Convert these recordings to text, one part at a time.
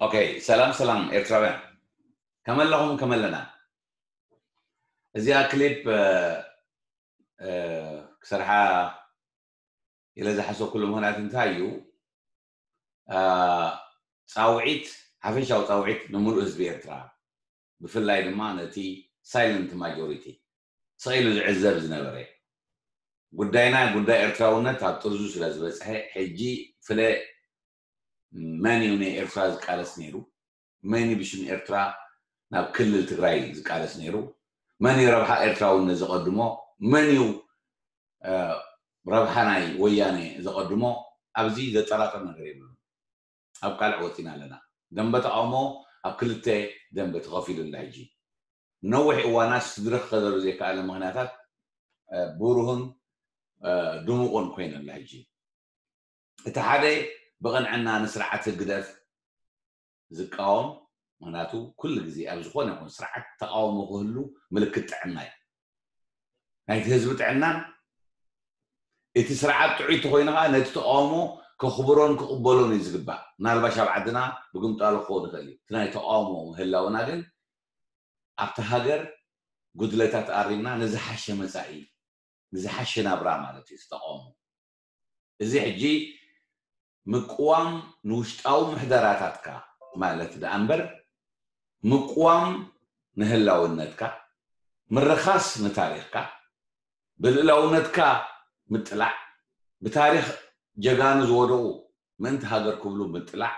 ኦኬ፣ ሰላም ሰላም ኤርትራውያን፣ ከመለኹም ከመለና። እዚኣ ክሊፕ ክሰርሓ ኢለ ዝሓሰብኩሉ ምኽንያት እንታይ እዩ? ፃውዒት፣ ሓፈሻዊ ፃውዒት ንምሉእ ህዝቢ ኤርትራ፣ ብፍላይ ድማ ነቲ ሳይለንት ማጆሪቲ፣ ስቕ ኢሉ ዝዕዘብ ዝነበረ። ጉዳይና ጉዳይ ኤርትራውነት ኣብ ጥርዙ ስለ ዝበፅሐ፣ ሕጂ ፍለ መን እዩ ንኤርትራ ዝቃለስ ነይሩ? መን እዩ ብሽም ኤርትራ ናብ ክልል ትግራይ ዝቃለስ ነይሩ? መን እዩ ረብሓ ኤርትራውነት ዘቐድሞ? መን እዩ ረብሓ ናይ ወያነ ዘቐድሞ? ኣብዚ ዘጠራጥር ነገር የብሉን። ኣብ ቃልዕ ወፂና ኣለና። ደንበ ተቃውሞ ኣብ ክልተ ደንበ ተኸፊሉ ኣሎ። ሕጂ ነዊሕ እዋናት ስድሪ ክኸደሉ ዘይከኣለ ምኽንያታት ብሩህን ድሙቕን ኮይነላ። ሕጂ እቲ ሓደ ብቕንዕና ንስርዓት ህግደፍ ዝቃወም፣ ምክንያቱ ኩሉ ግዜ ኣብ ዝኾነ ይኹን ስርዓት ተቃውሞ ክህሉ ምልክት ጥዕና እዩ። ናይቲ ህዝቢ ጥዕናን እቲ ስርዓት ጥዑይ ተኮይኑ ከዓ ነቲ ተቃውሞ ከኽብሮን ክቕበሎን እዩ ዝግባእ። ምናልባሽ ኣብ ዓድና ብግምጣሉ ክኸውን ይኽእል እዩ። እቲ ናይ ተቃውሞ ምህላውና ግን ኣብቲ ሃገር ጉድለታት ኣሪምና ንዝሓሸ መፃኢ፣ ንዝሓሸ ናብራ ማለት እዩ ተቃውሞ። እዚ ሕጂ ምቅዋም ንውሽጣዊ ምሕደራታትካ ማለት ደኣ እምበር፣ ምቅዋም ንህላውነትካ፣ ምርኻስ ንታሪኽካ፣ ብልእላውነትካ ምጥላዕ፣ ብታሪኽ ጀጋኑ ዝወደቑ ምእንቲ ሃገር ክብሉ ምጥላዕ፣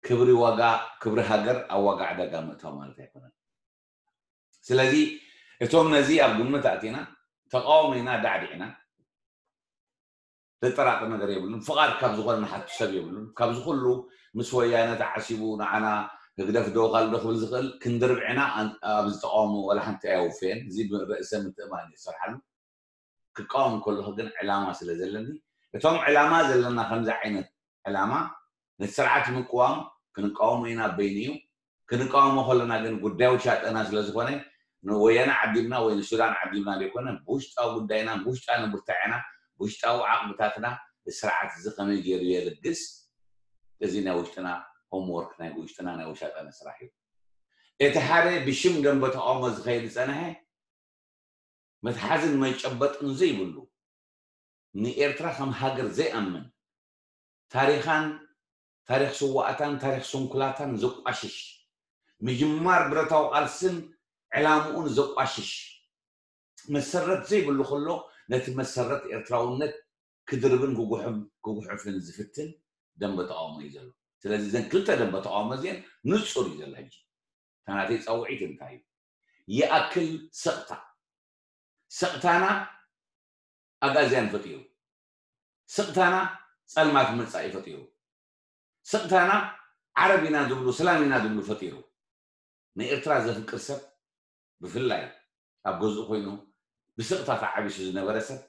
ክብሪ ዋጋ፣ ክብሪ ሃገር ኣብ ዋጋ ዕዳጋ ምእታው ማለት ኣይኮነን። ስለዚ እቶም ነዚ ኣብ ግምት ኣእቲና ተቃውሞ ኢና ዳዕዲዕና፣ ዘጠራጥር ነገር የብሉን። ፍቓድ ካብ ዝኾነ ንሓቱ ሰብ የብሉን። ካብዚ ኩሉ ምስ ወያነ ተዓሲቡ ንዓና ህግደፍ ዶ ካልእ ዶ ክብል ዝኽእል ክንዲ ርብዕና ኣብዚ ተቃውሞ ዋላ ሓንቲ ኣየውፈየን። እዚ ብርእሰ ምትእማን እዩ ዝሰርሓሉ። ክቃወም ከለኹ ግን ዕላማ ስለ ዘለኒ፣ እቶም ዕላማ ዘለና ከምዚ ዓይነት ዕላማ ነቲ ስርዓት ምቅዋም ክንቃወሞ ኢና በይኑ እዩ። ክንቃወሞ ከለና ግን ጉዳይ ውሻጠና ስለ ዝኾነ ንወያነ ዓዲምና ወይ ንሱዳን ዓዲምና ዘይኮነ ብውሽጣዊ ጉዳይና ብውሽጣ ንብርታዕና ብውሽጣዊ ዓቕምታትና ስርዓት እዚ ከመይ ገይሩ የልግስ፣ እዚ ናይ ውሽጥና ሆምወርክ ናይ ውሽጥና ናይ ውሻጠና ስራሕ እዩ። እቲ ሓደ ብሽም ደንበ ተቃውሞ ዝኸይድ ዝፀንሐ መትሓዝን መጨበጥን ዘይብሉ ንኤርትራ ከም ሃገር ዘይኣምን ታሪኻን ታሪኽ ስዋኣታን ታሪኽ ስንኩላታን ዘቋሽሽ ምጅማር ብረታዊ ቃልስን ዕላምኡን ዘቋሽሽ መሰረት ዘይብሉ ከሎ ነቲ መሰረት ኤርትራውነት ክድርብን ክጉሕፍን ዝፍትን ደንበ ተቃውሞ እዩ ዘሎ። ስለዚ እዘን ክልተ ደንበ ተቃውሞ እዚአን ንፁር እዩ ዘሎ። ሕጂ ተናተይ ፃውዒት እንታይ እዩ? ይኣክል ስቕታ። ስቕታና ኣጋዝያን ፈጢሩ። ስቕታና ጸልማት መጻኢ ፈጢሩ። ስቕታና ዓረብ ኢና ዝብሉ፣ ሰላም ኢና ዝብሉ ፈጢሩ። ንኤርትራ ዘፍቅር ሰብ ብፍላይ ኣብ ገዝኡ ኮይኑ ብስቕታ ተዓቢሱ ዝነበረ ሰብ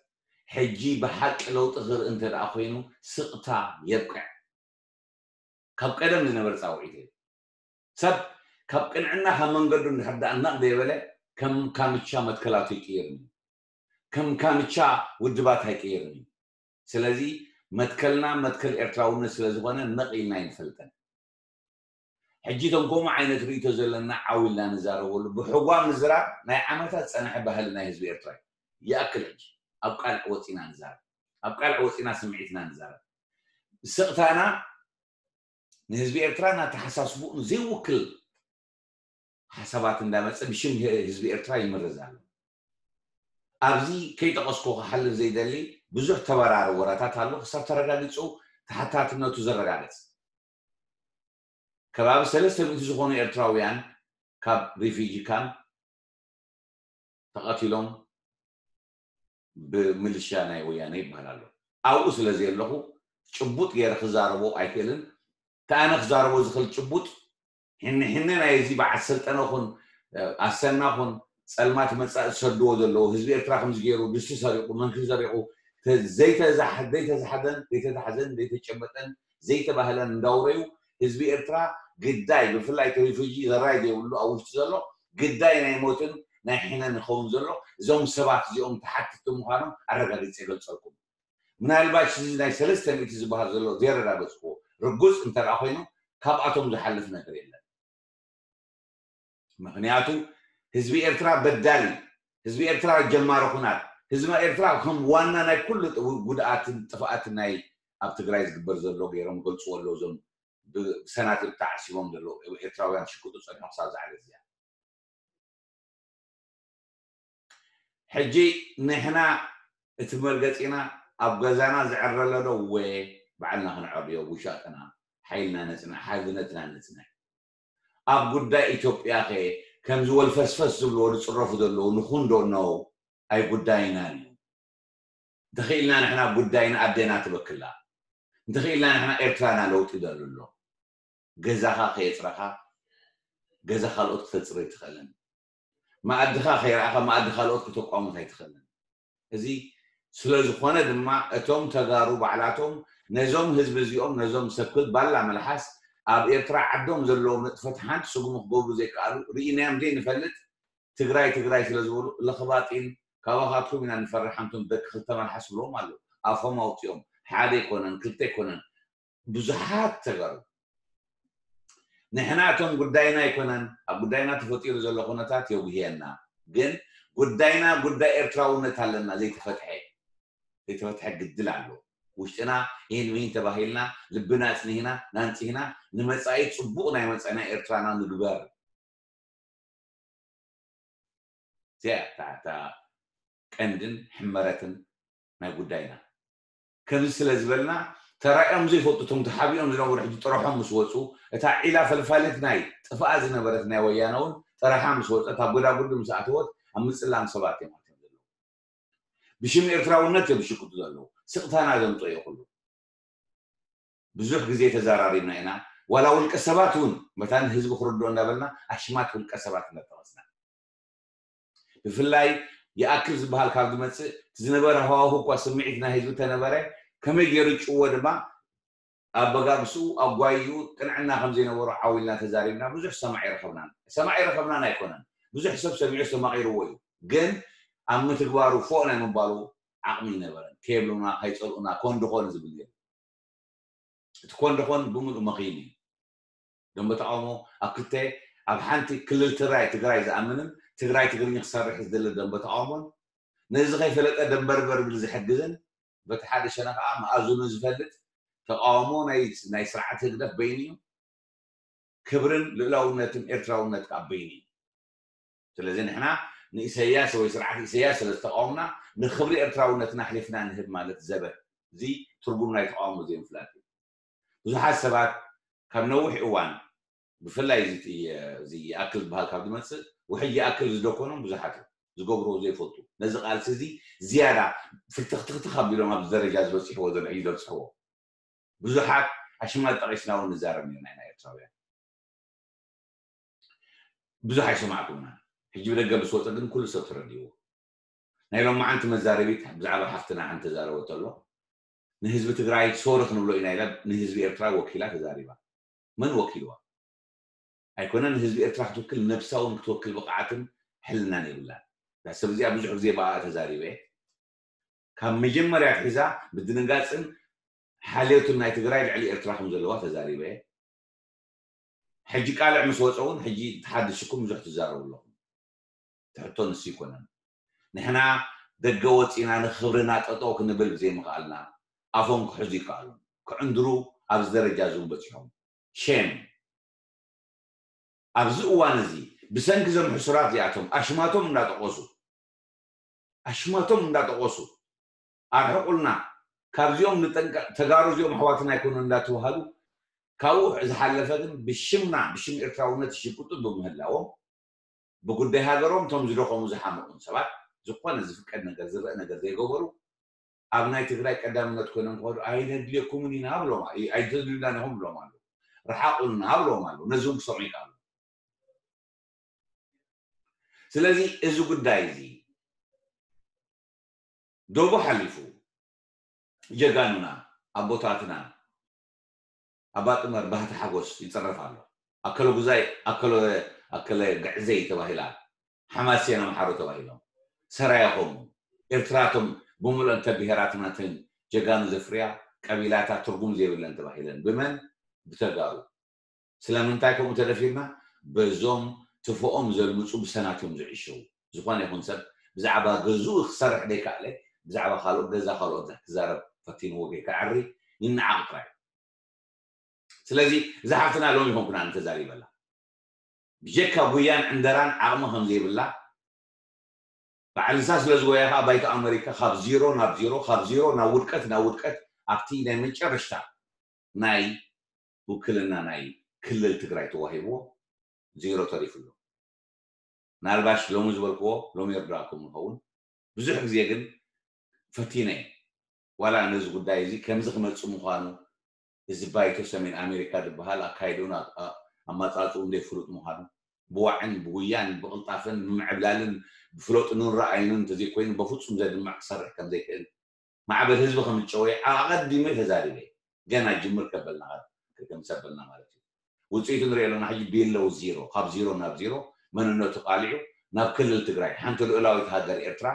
ሕጂ ብሓቂ ለውጢ ክርኢ እንተ ደኣ ኮይኑ ስቕታ የብቅዕ። ካብ ቀደም ዝነበረ ጻውዒት እዩ። ሰብ ካብ ቅንዕና ካብ መንገዱ እንድሕር ደኣ ነቕ ዘይበለ ከም ካምቻ መትከላቱ ይቅይርን እዩ። ከም ካምቻ ውድባት ኣይቅይርን እዩ። ስለዚ መትከልና መትከል ኤርትራውነት ስለ ዝኾነ ነቕ ኢልና ኣይንፈልጠን። ሕጂ እቶም ከምኡ ዓይነት ርእይቶ ዘለና ዓው ኢልና ንዛረበሉ። ብሕጓ ምዝራብ ናይ ዓመታት ዝጸንሐ ባህሊ ናይ ህዝቢ ኤርትራ እዩ። ይኣክል ሕጂ ኣብ ቃልዕ ወጺና ንዛረብ። ኣብ ቃልዕ ወጺና ስምዒትና ንዛረብ። ስቕታና ንህዝቢ ኤርትራን ኣተሓሳስብኡን ዘይውክል ሓሳባት እንዳመጸ ብሽም ህዝቢ ኤርትራ ይምረዝ ኣሎ። ኣብዚ ከይጠቐስኩ ክሓልፍ ዘይደሊ ብዙሕ ተበራሪ ወረታት ኣሎ። ክሳብ ተረጋጊጹ ተሓታትነቱ ዘረጋግጽ ከባቢ ሰለስተ ሚእቲ ዝኾኑ ኤርትራውያን ካብ ሪፊጂ ካምፕ ተቐቲሎም ብምልሻ ናይ ወያነ ይበሃል ኣሎ። ኣብኡ ስለ ዘየለኹ ጭቡጥ ገይረ ክዛረቦ ኣይክእልን። እቲ ኣነ ክዛረቦ ዝኽእል ጭቡጥ ሕነ ሕነ ናይ እዚ በዓል ሰልጠነ ኹን ኣሰና ኹን ጸልማት መጻኢ ዝሰድዎ ዘለዉ ህዝቢ ኤርትራ ከምዚ ገይሩ ድስቲ ሰሪቑ መንክብ ሰሪቑ ዘይተዛሕደን ዘይተተሓዘን ዘይተጨበጠን ዘይተባህለን እንዳውረዩ ህዝቢ ኤርትራ ግዳይ ብፍላይ እቲ ሪፉጂ ዘራይ ዘይብሉ ኣብ ውሽጢ ዘሎ ግዳይ ናይ ሞትን ናይ ሕነን ይኸውን ዘሎ እዞም ሰባት እዚኦም ተሓትቲ ምዃኖም ኣረጋጊፀ ይገልፀልኩም። ምናልባሽ እዚ ናይ ሰለስተ ሚእቲ ዝበሃል ዘሎ ዘየረጋገፅኩዎ ርጉፅ እንተ ደኣ ኮይኑ ካብኣቶም ዝሓልፍ ነገር የለን። ምክንያቱ ህዝቢ ኤርትራ በዳል እዩ። ህዝቢ ኤርትራ ጀማሪ ኩናት፣ ህዝቢ ኤርትራ ከም ዋና ናይ ኩሉ ጥ- ጉድኣትን ጥፍኣትን ናይ ኣብ ትግራይ ዝግበር ዘሎ ገይሮም ገልፅዎ ኣለዉ። እዞም ብሰናትል ተዓሲቦም ዘለዉ ኤርትራውያን ሽቅጡ ፀኒሖም ክሳብ ዝዓለት እዚኣ። ሕጂ ንሕና እቲ መርገፂና ኣብ ገዛና ዝዕረ ኣሎ ዶ? ወ ባዕልና ክንዕርዮ ውሻጥና ሓይልና ነፅንዕ ሓድነትና ነፅንዕ። ኣብ ጉዳይ ኢትዮጵያ ከ ከምዚ ወልፈስፈስ ዝብልዎ ዝፅረፉ ዘለዉ ንኹን ዶ? ኖ፣ ኣይጉዳይናን እዩ። እንተኽኢልና ንሕና ጉዳይና ኣዴና ትበክላ፣ እንተኽኢልና ንሕና ኤርትራና ለውጢ ደሉ ኣሎ። ገዛኻ ከየፅረኻ ገዛ ካልኦት ክተፅሪ ኣይትኽእልን። መኣድኻ ከይረኣኻ መኣዲ ካልኦት ክተቋሙት ኣይትኽእልን። እዚ ስለ ዝኾነ ድማ እቶም ተጋሩ ባዕላቶም ነዞም ህዝቢ እዚኦም ነዞም ሰክል ባላ መልሓስ ኣብ ኤርትራ ዓዶም ዘለዎም ንጥፈት ሓንቲ ስጉሚ ክገብሩ ዘይከኣሉ ርኢናዮም ዘይንፈልጥ ትግራይ ትግራይ ስለ ዝበሉ ለኽባጢን ካባኻትኩም ኢና ንፈርሕ ኣንቱም ደቂ ክልተ መልሓስ ብሎም ኣለዉ ኣፎም ኣውፂኦም ሓደ ኣይኮነን ክልተ ኣይኮነን ብዙሓት ተጋሩ ንሕና እቶም ጉዳይና ኣይኮነን ኣብ ጉዳይና ተፈጢሩ ዘሎ ኩነታት የጉህየና ግን ጉዳይና ጉዳይ ኤርትራውነት ኣለና ዘይተፈትሐ ዘይተፈትሐ ግድል ኣሎ ውሽጥና ይህን ምሂን ተባሂልና ልብና ኣፅኒህና ናንፅህና ንመፃኢ ፅቡቕ ናይ መፃኢና ኤርትራና ንግበር እዚኣ እታ ቀንድን ሕመረትን ናይ ጉዳይና ከምዚ ስለ ዝበልና ተራእዮም ዘይፈልጡ እቶም ተሓቢኦም ዝነበሩ ሕጂ ጥረሖም ምስ ወፁ እታ ዒላ ፈልፋሊት ናይ ጥፍኣ ዝነበረት ናይ ወያነ እውን ጥረሓ ምስ ወፀት ኣብ ጎዳጉዲ ምስ ኣተወት ኣብ ምፅላም ሰባት እዮም ኣትዮም ዘለዉ ብሽም ኤርትራውነት እዮም ዝሽቅጡ ዘለዉ ስቕታና ዘምፀኦ እዩ ኩሉ ብዙሕ ግዜ ተዘራሪብና ኢና ዋላ ውልቀ ሰባት እውን መታን ህዝቢ ክርድኦ እንዳበልና ኣሽማት ውልቀ ሰባት እንዳጠቐስና ብፍላይ ይኣክል ዝበሃል ካብ ዝመፅእ ዝነበረ ሃዋሁ እኳ ስምዒት ናይ ህዝቢ ተነበረ ከመይ ገይሩ ጭዎ ድማ ኣበጋግስኡ ኣጓይኡ ቅንዕና ከም ዘይነበሮ ዓው ኢልና ተዛሪብና ብዙሕ ሰማዕ ይረኸብናን ሰማዕ ይረኸብናን ኣይኮነን ብዙሕ ሰብ ሰሚዑ ዝተማቒርዎ እዩ ግን ኣብ ምትግባሩ ፎእ ናይ ምባሉ ዓቕሚ ይነበረን ከየብሉና ከይፀልኡና ኮን ድኾን ዝብል ነይሩ እቲ ኮን ድኾን ብምሉእ መኺን እዩ ደንበ ተቃውሞ ኣብ ክልተ ኣብ ሓንቲ ክልል ትግራይ ትግራይ ዝኣምንን ትግራይ ትግርኛ ክሰርሕ ዝደሊ ደንበ ተቃውሞን ነዚ ከይፈለጠ ደንበርበር ብል ዝሕግዝን በቲ ሓደ ሸነ ከዓ መኣዝኑ ዝፈልጥ ተቃውሞ ናይ ስርዓት ህግደፍ በይኑ እዩ ክብርን ልእላውነትን ኤርትራውነት ከዓ በይኑ እዩ ስለዚ ንሕና ንኢሰያስ ወይ ስርዓት ኢሰያስ ስለ ዝተቃወምና ንክብሪ ኤርትራውነትና ኣሕሊፍና ንህብ ማለት ዘበት እዚ ትርጉም ናይ ተቃውሞ ዘይምፍላጥ እዩ ብዙሓት ሰባት ካብ ነዊሕ እዋን ብፍላይ እዚ ይኣክል ዝበሃል ካብ ዝመፅእ ውሕጅ ይኣክል ዝደኮኖም ብዙሓት እዮም ዝገብርዎ ዘይፈልጡ ነዚ ቃልሲ እዚ ዝያዳ ፍርትኽትኽትኽ ኣቢሎም ኣብዚ ደረጃ ዝበፅሕዎ ዘሎ እዩ ዘብፅሕዎ ብዙሓት ኣሽማት ጠቒስና እውን ንዛረብ ነርና ኢና ኤርትራውያን ብዙሕ ኣይሰማዕኩምና ሕጂ ብደገ ምስ ወፀ ግን ኩሉ ሰብ ተረዲእዎ ናይ ሎማዓንቲ መዛረቢት ብዛዕባ ሓፍትና ሓንቲ ተዛረበቶ ኣሎ ንህዝቢ ትግራይ ሶሪ ክንብሎ ኢና ኢላ ንህዝቢ ኤርትራ ወኪላ ተዛሪባ መን ወኪልዋ ኣይኮነ ንህዝቢ ኤርትራ ክትውክል ነብሳ እውን ክትወክል ብቕዓትን ሕልናን የብላን እዛ ሰብ እዚኣ ብዙሕ ግዜ ብኣ ተዛሪበ ካብ መጀመርያ ኣትሒዛ ምድንጋፅን ሓልዮትን ናይ ትግራይ ልዕሊ ኤርትራ ከም ዘለዋ ተዛሪበ ሕጂ ቃልዕ ምስ ወፀ እውን ሕጂ ተሓድሽኩም ብዙሕ ትዛረቡ ኣለኹም ትሕቶ ንሱ ይኮነን ንሕና ደገ ወፂና ንክብርና ጠጠው ክንብል ብዘይምኽኣልና ኣፎም ክሕዙ ይከኣሉ ክዕንድሩ ኣብዚ ደረጃ ዝውን በፂሖም ሼም ኣብዚ እዋን እዚ ብሰንኪ ዞም ሕሱራት እዚኣቶም ኣሽማቶም እንዳጠቀሱ ኣሽማቶም እንዳጠቀሱ ኣርሕቁልና ካብዚኦም ንጠንቀቅ ተጋሩ እዚኦም ኣሕዋትና ኣይኮኑ እንዳተባሃሉ ካብኡ ዝሓለፈ ግን ብሽምና ብሽም ኤርትራውነት ይሽቅጡ ብምህላዎም ብጉዳይ ሃገሮም እቶም ዝደኸሙ ዝሓመቑን ሰባት ዝኾነ ዝፍቀድ ነገር ዝረአ ነገር ዘይገበሩ ኣብ ናይ ትግራይ ቀዳምነት ኮይኖም ክኸዱ ኣይነድልየኩምን ኢና ብሎም ኣይተድልዩናን ኢኹም ብሎም ኣለዉ ረሓቑልና ብሎም ኣለዉ ነዚ እውን ክሰምዑ ይከኣሉ ስለዚ እዚ ጉዳይ እዚ ዶቡ ሓሊፉ ጀጋኑና ኣቦታትና ኣባ ጥመር ባህቲ ሓጎስ ይፅረፍ ኣሎ ኣከለ ጉዛይ ኣከለ ኣከለ ግዕዘይ ተባሂላ ሓማሴን ኣምሓሩ ተባሂሎም ሰራየ ከምኡ ኤርትራቶም ብምሉእን ተብሄራትናትን ጀጋኑ ዘፍርያ ቀቢላታት ትርጉም ዘይብለን ተባሂለን ብመን ብተጋሩ ስለምንታይ ከምኡ ተደፊርና? በዞም ትፎኦም ዘልምፁ ብሰናት እዮም ዝዕሸዉ። ዝኾነ ይኹን ሰብ ብዛዕባ ገዝኡ ክሰርሕ ደይከኣለ፣ ብዛዕባ ካልኦት ገዛ ካልኦት ክዛረብ ፈቲንዎ ከይከዐሪ ይነዓቕ ጥራይ። ስለዚ እዛ ሓፍትና ሎሚ ይኾንኩና ንተዛሪበላ ብጀካ ጉያን ዕንደራን ዓቕሚ ከም ዘይብላ ባዕልሳ ስለ ዝጎያ ከዓ ባይቶ ኣመሪካ ካብ ዚሮ ናብ ዚሮ፣ ካብ ዚሮ ናብ ውድቀት፣ ናብ ውድቀት ኣብቲ ናይ መጨረሽታ ናይ ውክልና ናይ ክልል ትግራይ ተዋሂብዎ ዜሮ ተሪፉ ኣሎ። ምናልባሽ ሎሚ ዝበልክዎ ሎሚ ይርዳእኩም ይኸውን። ብዙሕ ግዜ ግን ፈቲነ ዋላ ነዚ ጉዳይ እዚ ከምዚ ክመፅእ ምዃኑ፣ እዚ ባይቶ ሰሜን ኣሜሪካ ዝበሃል ኣካይድኡን ኣማፃፅኡን ዘይፍሉጥ ምዃኑ፣ ብዋዕን ብጉያን ብቕልጣፈን ብምዕብላልን ብፍሎጥኑን ረኣዩንን እንተዘይኮይኑ በፍፁም ዘድምዕ ክሰርሕ ከምዘይክእል ማዕበል ህዝቢ ከምጨወየ ኣቐዲመ ተዛሪበ። ገና ጅምር ከበልና ከምሰበልና ማለት እዩ። ውፅኢቱ ንሪኦ ኣለና። ሕጂ ቢለው ዚሮ፣ ካብ ዚሮ ናብ ዚሮ መንነቱ ቃሊዑ ናብ ክልል ትግራይ፣ ሓንቲ ልኡላዊት ሃገር ኤርትራ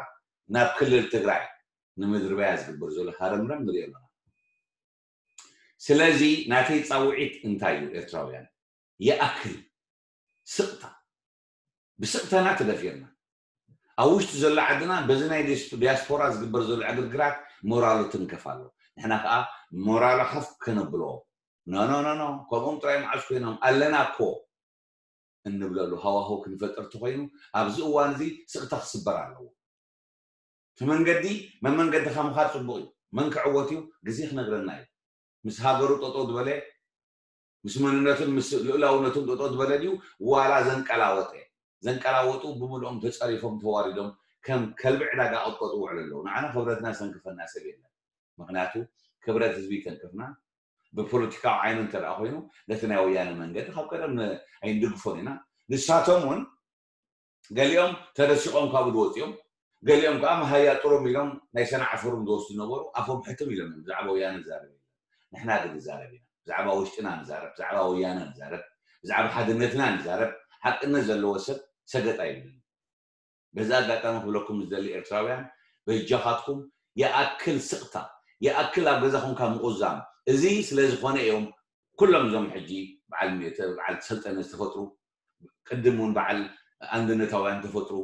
ናብ ክልል ትግራይ ንምድርባያ ዝግበር ዘሎ ሃረምረም ንሪኦ ኣለና። ስለዚ ናተይ ፃውዒት እንታይ እዩ? ኤርትራውያን ይኣክል ስቕታ። ብስቕታና ተደፊርና ኣብ ውሽጢ ዘሎ ዓድና በዚ ናይ ዲያስፖራ ዝግበር ዘሎ ዕግርግራት ሞራሉ ትንከፍ ኣሎ። ንሕና ከዓ ሞራሉ ሓፍ ከነብሎ ኖ ኖ ኖ ኖ ከምኦም ጥራይ መዓስ ኮይኖም ኣለና እኮ እንብለሉ ሃዋህው ክንፈጥር ተኮይኑ ኣብዚ እዋን እዚ ስቕታ ክስበር ኣለዎ። እቲ መንገዲ መመንገድኻ ምኻድ ፅቡቕ እዩ። መን ክዕወት እዩ ግዜ ክነግረና እዩ። ምስ ሃገሩ ጠጠው ዝበለ ምስ መንነቱን ምስ ልኡላውነቱን ጠጠው ዝበለ ድዩ ዋላ ዘንቀላወጠ? ዘንቀላወጡ ብምልኦም ተፀሪፎም ተዋሪዶም ከም ከልቢ ዕዳጋ ቀጥቀጡ ውዕሉ ኣለዉ። ንዓና ክብረትና ዘንክፈና ሰብ የለን። ምክንያቱ ክብረት ህዝቢ ይተንክፍና። ብፖለቲካዊ ዓይኑ እንተ ደኣ ኮይኑ ነቲ ናይ ወያነ መንገዲ ካብ ቀደም ን- ኣይንድግፎን ኢና። ንሳቶም እውን ገሊኦም ተደሲቖም ካብኡ ዝወፁ እዮም። ገሊኦም ከዓ መሃያ ጥሩም ኢሎም ናይ ሰናዕ ፈሩም ዝወስዱ ነበሩ። ኣፎም ሕትም ኢሎም እዮም ብዛዕባ ወያነ ዝዛረብ የለን። ንሕና ግን ንዛረብ ኢና። ብዛዕባ ውሽጥና ንዛረብ፣ ብዛዕባ ወያነ ንዛረብ፣ ብዛዕባ ሓድነትና ንዛረብ። ሓቅነት ዘለዎ ሰብ ሰገጥ ኣይብልን። በዚ ኣጋጣሚ ክብለኩም ዝደሊ ኤርትራውያን በጃኻትኩም ይኣክል ስቕታ፣ ይኣክል ኣብ ገዛ ኮንካ ምቑዛም። እዚ ስለ ዝኾነ እዮም ኩሎም እዞም ሕጂ በዓል ሜተ በዓል ሰልጠነ ዝተፈጥሩ ቅድም እውን በዓል ኣንድነታውያን ተፈጥሩ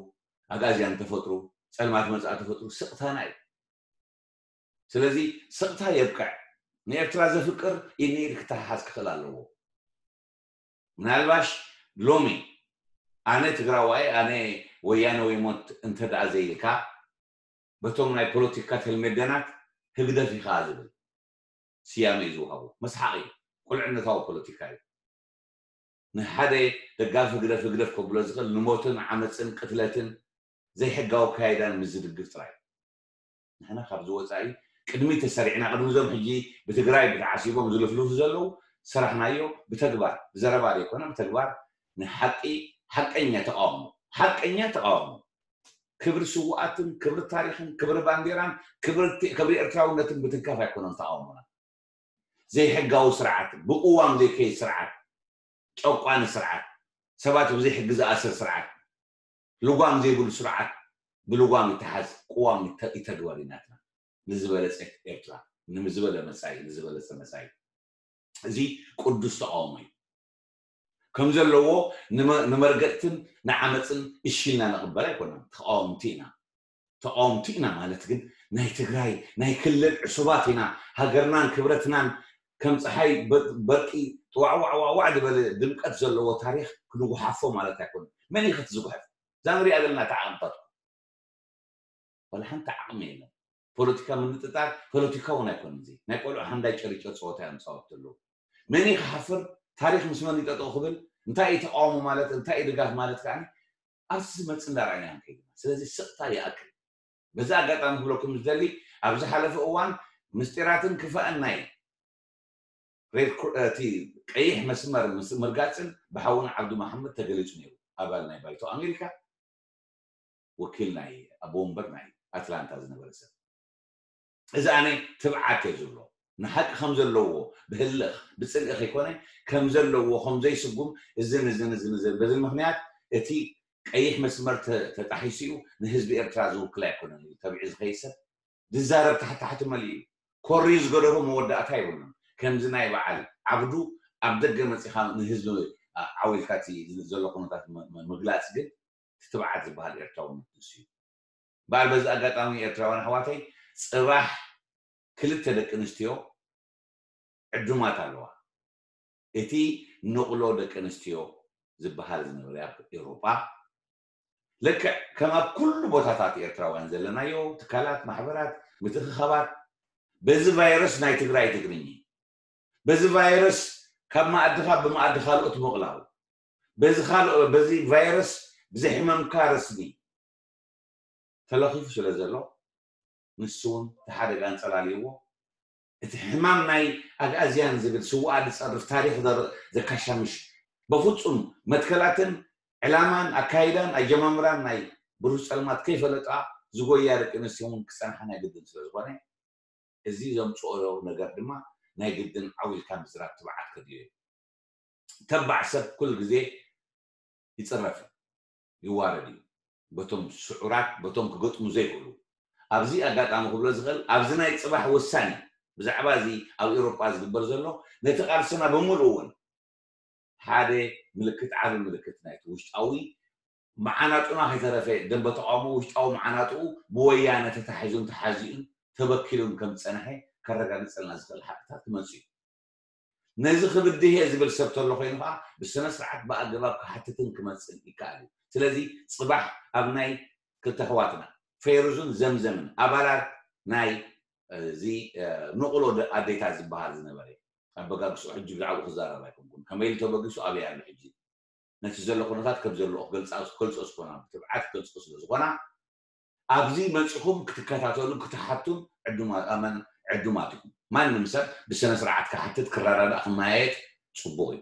ኣጋዝያን ተፈጥሩ ጸልማት መጻኢ ተፈጥሩ ስቕታና እዩ። ስለዚ ስቕታ የብቅዕ። ንኤርትራ ዘፍቅር ኢድ ንኢድ ክተሓሓዝ ክኽእል ኣለዎ። ምናልባሽ ሎሚ ኣነ ትግራዋይ ኣነ ወያነ ወይ ሞት እንተ ደኣ ዘይልካ በቶም ናይ ፖለቲካ ተልሜደናት ህግደፍ ኢኻ ዝብል ስያመ እዩ ዝወሃቦ። መስሓቕ እዩ። ቁልዕነታዊ ፖለቲካ እዩ። ንሓደ ደጋፊ ህግደፍ ህግደፍ ከብሎ ዝኽእል ንሞትን ዓመፅን ቅትለትን ዘይሕጋዊ ኣካይዳን ምስ ዝድግፍ ጥራይ እዩ። ንሕና ካብዚ ወፃኢ ቅድሚ ተሰሪዕና ቅድሚ እዞም ሕጂ ብትግራይ ብተዓሲቦም ዝልፍልፉ ዘለዉ ሰራሕናዮ ብተግባር ብዘረባ ዘይኮነ ብተግባር ንሓቂ ሓቀኛ ተቃውሞ ሓቀኛ ተቃውሞ ክብሪ ስውኣትን ክብሪ ታሪክን ክብሪ ባንዴራን ክብሪ ኤርትራውነትን ብትንካፍ ኣይኮነን ተቃውሞና። ዘይሕጋዊ ስርዓት ብቅዋም ዘይከይድ ስርዓት ጨቋኒ ስርዓት ሰባት ብዘይ ሕጊ ዝኣስር ስርዓት ልጓም ዘይብሉ ስርዓት ብልጓም ይተሓዝ ቅዋም ይተግበር ኢናትና ንዝበለፀት ኤርትራ ንዝበለ መፃኢ ንዝበለፀ መፃኢ እዚ ቅዱስ ተቃውሞ እዩ ከም ዘለዎ ንመርገጥትን ንዓመፅን እሺልና ንቅበል ኣይኮነን ተቃወምቲ ኢና ተቃወምቲ ኢና ማለት ግን ናይ ትግራይ ናይ ክልል ዕሱባት ኢና ሃገርናን ክብረትናን ከም ፀሓይ በርቂ ጥዋዕዋዕዋዕዋዕ ዝበለ ድምቀት ዘለዎ ታሪክ ክንጉሓፎ ማለት ኣይኮነ መን እዩ ከትዝጉሐፍ እዛ ንሪኣ ዘለና ተዓቅምታት ወላ ሓንቲ ዓቕሚ የለን ፖለቲካ ምንጥጣር ፖለቲካ እውን ኣይኮነ እዚ ናይ ቆልዑ ሓንዳይ ጨሪጨ ፀወታ እዮም ዝፃወቱ ዘለዉ መን ክሓፍር ታሪክ ምስ መን ይጠጠው ክብል እንታይ እዩ ተቃውሞ ማለት እንታይ እዩ ድጋፍ ማለት ከዓ ኣብዚ ዝመፅእ እንዳረኣና እዮም ከይድና ስለዚ ስቕታ ይኣክል በዚ ኣጋጣሚ ክብለኩም ዝደሊ ኣብ ዝሓለፈ እዋን ምስጢራትን ክፋእን ናይ ሬድ እቲ ቀይሕ መስመር ምስ ምርጋፅን ብሓውና ዓብዱ መሓመድ ተገሊፁ ነይሩ ኣባል ናይ ባይቶ ኣሜሪካ ወኪል ናይ ኣቦ ወንበር ናይ ኣትላንታ ዝነበረ ሰብ እዚ ኣነ ትብዓት እየ ዝብሎ ንሓቂ ከም ዘለዎ ብህልኽ ብፅልኢ ከይኮነ ከም ዘለዎ ከም ዘይስጉም እዝን እዝን እዝን እዝን በዚ ምክንያት እቲ ቀይሕ መስመር ተጣሒሱ እዩ ንህዝቢ ኤርትራ ዝውክል ኣይኮነን እዩ ተቢዑ ዝኸይድ ሰብ ዝዛረብ ታሕቲ ታሕቲ መሊኡ እዩ ኮርዩ ዝገደፎ መወዳእታ የብሉን ከምዚ ናይ በዓል ዓብዱ ኣብ ደገ መፂኻ ንህዝቢ ዓዊልካ እቲ ዘሎ ኩነታት ምግላፅ ግን ትብዓት ዝበሃል ኤርትራውነት ንሱ እዩ። በዓል በዚ ኣጋጣሚ ኤርትራውያን ኣሕዋተይ ፅባሕ ክልተ ደቂ ኣንስትዮ ዕዱማት ኣለዋ። እቲ ንቕሎ ደቂ ኣንስትዮ ዝበሃል ዝነበረ ኣብ ኤውሮጳ ልክዕ ከም ኣብ ኩሉ ቦታታት ኤርትራውያን ዘለናዮ ትካላት፣ ማሕበራት፣ ምትእኽኻባት በዚ ቫይረስ ናይ ትግራይ ትግርኝ በዚ ቫይረስ ካብ መኣድኻ ብመኣዲ ካልኦት ምቕላው በዚ ካልኦ በዚ ቫይረስ ብዘይ ሕመምካ ረስኒ ተለኺፉ ስለ ዘሎ ንሱ እውን እቲ ሓደጋ ኣንጸላልይዎ እቲ ሕማም ናይ ኣግኣዝያን ዝብል ስውኣ ዝጸርፍ ታሪኽ ዘካሻምሽ በፍጹም መትከላትን ዕላማን ኣካይዳን ኣጀማምራን ናይ ብሩህ ጸልማት ከይፈለጣ ዝጎያ ደቂ ኣንስትዮ እውን ክጸንሓ ናይ ግድን ስለ ዝኾነ እዚ ዘምፅኦ ነገር ድማ ናይ ግድን ዓው ኢልካ ምዝራብ ትብዓት ከድልዮ እዩ። ተባዕ ሰብ ኩሉ ግዜ ይፅረፍ እዩ፣ ይዋረድ እዩ በቶም ስዑራት በቶም ክገጥሙ ዘይክእሉ። ኣብዚ ኣጋጣሚ ክብሎ ዝኽእል ኣብዚ ናይ ፅባሕ ወሳኒ ብዛዕባ እዚ ኣብ ኤውሮጳ ዝግበር ዘሎ ነቲ ቃልስና ብምሉእ እውን ሓደ ምልክት ዓቢ ምልክት ናይቲ ውሽጣዊ መዓናጡና ከይተረፈ ደንበ ተቃውሞ ውሽጣዊ መዓናጥኡ ብወያነ ተታሒዙን ተሓዚኡን ተበኪሉን ከም ዝጸንሐ ከረጋግጸልና ዝኽእል ሓቅታት ክመጽእ እዩ። ነዚ ክብድህ እየ ዝብል ሰብ ተሎ ኮይኑ ከዓ ብስነ ስርዓት ብኣገባብ ክሓትትን ክመጽእን ይከኣል እዩ። ስለዚ ጽባሕ ኣብ ናይ ክልተ ኣሕዋትና ፌሩዝን ዘምዘምን ኣባላት ናይ እዚ ንቕሎ ኣዴታት ዝበሃል ዝነበረ ኣበጋግስኡ ሕጂ ብዛዕባኡ ክዛረብ ኣይኮንኩን። ከመይ ኢሉ ተበጊሱ ኣበይ ኣሎ ሕጂ ነቲ ዘሎ ኩነታት ከም ዘለዎ ክገልጻ ክገልጾ ዝኾና ብትብዓት ክገልጾ ስለ ዝኾና ኣብዚ መጺኹም ክትከታተሉ ክትሓቱን ዕዱማት ኣመን ዕዱማት ኢኹም። ማንም ሰብ ብስነ ስርዓት ክሓትት ክረዳዳእ ክመያየጥ ጽቡቕ እዩ።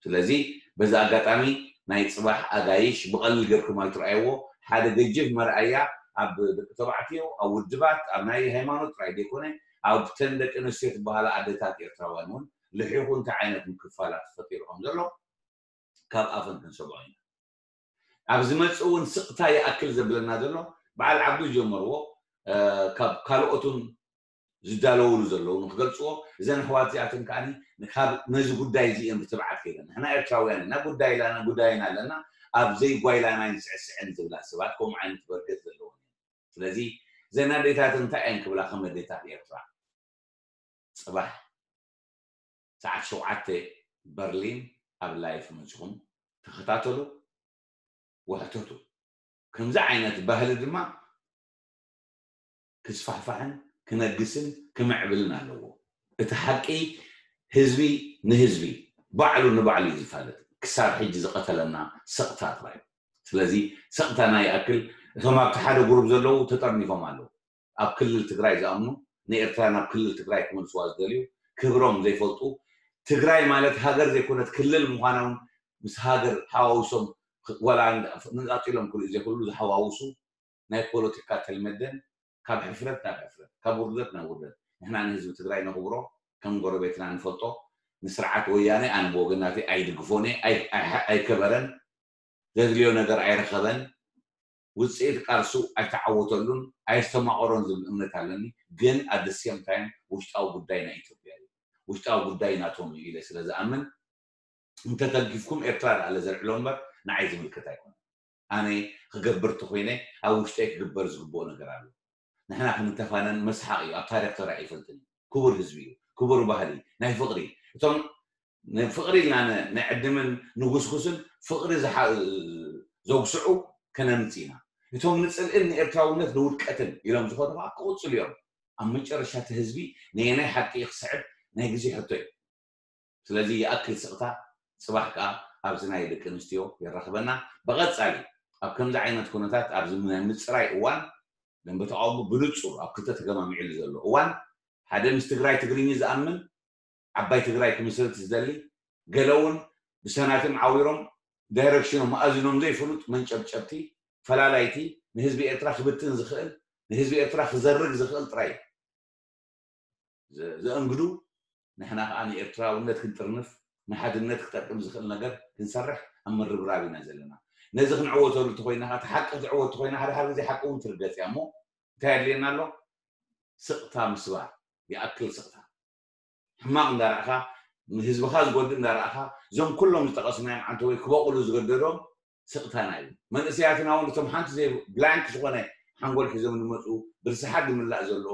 ስለዚ በዚ ኣጋጣሚ ናይ ጽባሕ ኣጋይሽ ብቐሊል ጌርኩም ኣይትረኣይዎ። ሓደ ገጅፍ መርኣያ ኣብ ደቂ ተባዕትዮ፣ ኣብ ውድባት፣ ኣብ ናይ ሃይማኖት ጥራይ ዘይኮነ ኣብተን ደቂ ኣንስትዮ ትበሃላ ኣደታት ኤርትራውያን እውን ልሒኹ እንታይ ዓይነት ምክፋላት ተፈጢሩ ከም ዘሎ ካብ ኣፈን ክንሰምዖ ኢና። ኣብ ዝመጽእ እውን ስቕታ ይኣክል ዘብለና ዘሎ በዓል ዓብዱ ዝጀመርዎ ካብ ካልኦት እውን ዝዳለውሉ ዘለዉ ንክገልፅዎ እዘን ኣሕዋት እዚኣተን ከዓ ካብ ነዚ ጉዳይ እዚ እየን ብትብዓት ከይደን ንሕና ኤርትራውያን ኢና ጉዳይ ኢላና ጉዳይና ኣለና ኣብ ዘይጓይላና ይንስዕስዕን ዝብላ ሰባት ከምኡ ዓይነት በርገት ዘለወን እየን ስለዚ እዘን ኣዴታት እንታይ እየን ክብላ ከም ኣዴታት ኤርትራ ፅባሕ ሰዓት ሸውዓተ በርሊን ኣብ ላይፍ መፅኹም ተኸታተሉ ወሕተቱ ከምዚ ዓይነት ባህሊ ድማ ክስፋሕፋሕን ክነግስን ክምዕብልን ኣለዎ። እቲ ሓቂ ህዝቢ ንህዝቢ ባዕሉ ንባዕሉ እዩ ዝፋለጥ። ክሳብ ሕጂ ዝቐተለና ሰቕታ ጥራይ እዩ። ስለዚ ሰቕታና ይኣክል። እቶም ኣብቲ ሓደ ጉሩብ ዘለዉ ተጠርኒፎም ኣለዉ። ኣብ ክልል ትግራይ ዝኣምኑ ንኤርትራ ናብ ክልል ትግራይ ክመልስዋ ዝደልዩ ክብሮም ዘይፈልጡ ትግራይ ማለት ሃገር ዘይኮነት ክልል ምዃና እውን ምስ ሃገር ሓዋውሶም ዋላ ነፃፂሎም ክርእዩ ዘይክእሉ ዝሓዋውሱ ናይ ፖለቲካ ተልመደን ካብ ሕፍረት ናብ ሕፍረት ካብ ውርደት ናብ ውርደት ንሕና ንህዝቢ ትግራይ ነኽብሮ ከም ጎረቤትና ንፈልጦ ንስርዓት ወያነ ኣነ ብወገናተይ ኣይድግፎን እየ ኣይከበረን ዘድልዮ ነገር ኣይረኸበን ውፅኢት ቃልሱ ኣይተዓወተሉን ኣይስተማቐሮን ዝብል እምነት ኣለኒ ግን ኣደስየም ታይም ውሽጣዊ ጉዳይ ናይ ኢትዮጵያ እዩ ውሽጣዊ ጉዳይ ናቶም እዩ ኢለ ስለ ዝኣምን እንተተልጊፍኩም ኤርትራ ዳኣ ለዘልዕሎ እምበር ንዓይ ዝምልከት ኣይኮነን ኣነ ክገብር ተኮይነ ኣብ ውሽጠይ ክግበር ዝግብኦ ነገር ኣሎ ንሕና ክንተፋነን መስሓቕ እዩ ኣብ ታሪክ ተራእዩ ይፈልጥን እዩ ክቡር ህዝቢ እዩ ክቡር ባህሊ ናይ ፍቕሪ እቶም ንፍቕሪ ኢልና ንዕድምን ንጉስጉስን ፍቕሪ ዘጉስዑ ከነምፅ ኢና እቶም ንፅልእን ንኤርትራውነት ንውድቀትን ኢሎም ዝኾኑ ከዓ ክቕፅሉ እዮም ኣብ መጨረሻ እቲ ህዝቢ ነየናይ ሓቂ ክስዕብ ናይ ግዜ ሕቶ እዩ ስለዚ ይኣክል ስቕታ ፅባሕ ከዓ ኣብዚ ናይ ደቂ ኣንስትዮ የራኽበና ብቐፃሊ ኣብ ከምዚ ዓይነት ኩነታት ኣብዚ ናይ ምፅራይ እዋን ደንበ ተቃውሞ ብንፁር ኣብ ክልተ ተገማሚዕሉ ዘሎ እዋን ሓደ ምስ ትግራይ ትግርኝ ዝኣምን ዓባይ ትግራይ ክምስርት ዝደሊ ገለ እውን ብሰናቲም ዓዊሮም ዳይረክሽኖም መኣዝኖም ዘይፍሉጥ መንጨብጨብቲ ፈላላይቲ ንህዝቢ ኤርትራ ክብትን ዝኽእል ንህዝቢ ኤርትራ ክዘርግ ዝኽእል ጥራይ ዘእንግዱ ንሕና ከዓ ንኤርትራውነት ክንጥርንፍ ንሓድነት ክጠቅም ዝኽእል ነገር ክንሰርሕ ኣብ ምርብራብ ኢና ዘለና ነዚ ክንዕወተሉ ተኮይና ከዓ ሓቂ ክትዕወት ተኮይና ሓደ ሓደ ግዜ ሓቂ እውን ትርገፅ እያ እሞ እንታይ ኣድልየና ኣሎ ስቕታ ምስባር ይኣክል ስቕታ ሕማቕ እንዳረእኻ ንህዝብኻ ዝጎድእ እንዳረኣኻ፣ እዞም ኩሎም ዝጠቐስናዮም ዓንተወይ ክበቑሉ ዝገደዶም ስቕታና እዩ። መንእሰያትና እውን እቶም ሓንቲ ዘይ ብላንክ ዝኾነ ሓንጎል ሒዞም ዝመፁ፣ ብርስሓት ዝምላእ ዘሎ፣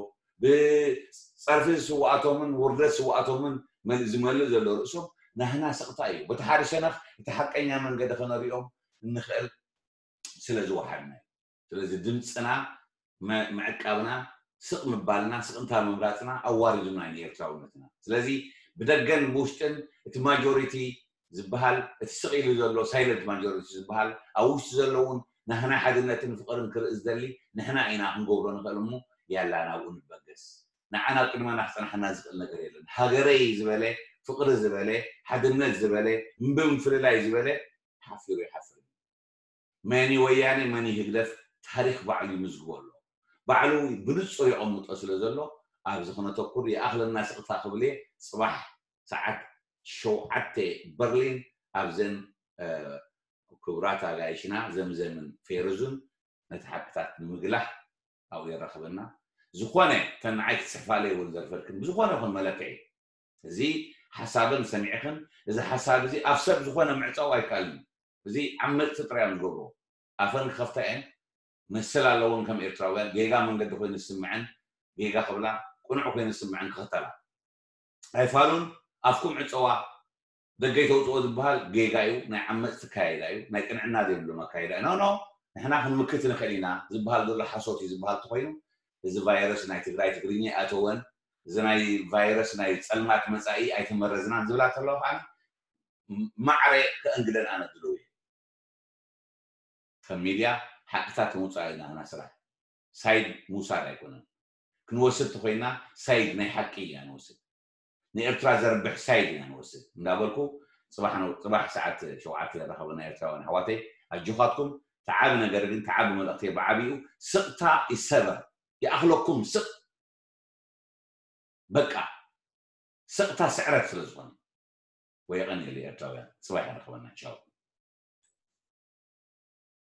ብፀርፊ ስውኣቶምን ውርደት ስውኣቶምን መል- ዝመልእ ዘሎ ርእሶም ናህና ስቕታ እዩ። በቲ ሓደ ሸነኽ እቲ ሓቀኛ መንገዲ ከነሪኦም እንኽእል ስለ ዝወሓድና እዩ። ስለዚ ድምፅና መ- ምዕቃብና፣ ስቕ ምባልና፣ ስቕንታ ምምራፅና ኣዋሪዱና እዩ ንኤርትራውነትና። ስለዚ ብደገን ብውሽጥን እቲ ማጆሪቲ ዝበሃል፣ እቲ ስቕ ኢሉ ዘሎ ሳይለንት ማጆሪቲ ዝበሃል፣ ኣብ ውሽጢ ዘሎ እውን ናህና ሓድነትን ፍቕርን ክርኢ ዝደሊ ንሕና ኢና ክንገብሮ ንኽእል እሞ፣ ያላ ናብኡ ንበገስ። ንዓና ኣብ ቅድመና ክፀናሓና ዝኽእል ነገር የለን። ሃገረይ ዝበለ፣ ፍቕሪ ዝበለ፣ ሓድነት ዝበለ፣ እምቢ ምፍልላይ ዝበለ ሓፊሩ ይሓፍር። መኒ ወያኔ መኒ ህግደፍ ታሪክ ባዕሉ ይምዝግቦ ኣሎ። ባዕሉ ብንጹር የቐምጦ ስለ ዘሎ ኣብዚ ክነተኩር ይኣኽለና ስቕታ ክብል እየ። ጽባሕ ሰዓት ሸውዓተ በርሊን ኣብዘን ክቡራት ኣጋይሽና ዘምዘምን ፌርዙን ነቲ ሓቅታት ንምግላህ ኣብኡ የራኽበና። ዝኾነ ተን ንዓይ ክትጽሕፋለይ እውን ዘርፈልክን ብዝኾነ ይኹን መለክዒ እዚ ሓሳብን ሰሚዕኽን እዚ ሓሳብ እዚ ኣብ ሰብ ዝኾነ ምዕጻው ኣይከኣልን። እዚ ዓመጽቲ ጥራይ እዮም ዝገብርዎ። ኣፈን ክኸፍታ እየን መሰል ኣለዎን ከም ኤርትራውያን ጌጋ መንገዲ ኮይኑ ዝስምዐን ጌጋ ክብላ ቅኑዕ ኮይኑ ዝስምዐን ክኽተላ ኣይፋሉን። ኣፍኩም ዕጸዋ ደገ ይተውፅኦ ዝበሃል ጌጋ እዩ። ናይ ዓመፅቲ ካይዳ እዩ። ናይ ቅንዕና ዘይብሎም ኣካይዳ እዩ። ኖ ኖ ንሕና ክንምክት ንኽእል ኢና ዝበሃል ዘሎ ሓሶት እዩ ዝበሃል ተኮይኑ እዚ ቫይረስ ናይ ትግራይ ትግርኛ ኣይኣተወን፣ እዚ ናይ ቫይረስ ናይ ፀልማት መፃኢ ኣይተመረዝናን ዝብላ ተለዋ ከዓ ማዕረ ከእንግደን ኣነ ድልው እየ። ከም ሚድያ ሓቅታት ምውፃእ እዩ ናህና ስራሕ። ሳይድ ምውሳድ ኣይኮነን። ክንወስድ ተኮይና ሳይድ ናይ ሓቂ ኢና ንወስድ። ንኤርትራ ዘርብሕ ሳይድ ኢና ንወስድ እንዳበልኩ ፅባሕ ሰዓት ሸውዓተ ረኸበና ኤርትራውያን ኣሕዋተይ ኣጆኻትኩም። ተዓቢ ነገር ግን ተዓቢ መልእክቲ ብዓብኡ ስቕታ ይሰበር ይኣኽለኩም ስቕ በቃ ስቕታ ስዕረት ስለ ዝኾነ ወይ የቐንየሉ ኤርትራውያን ፅባሕ ይረኸበና ቻው።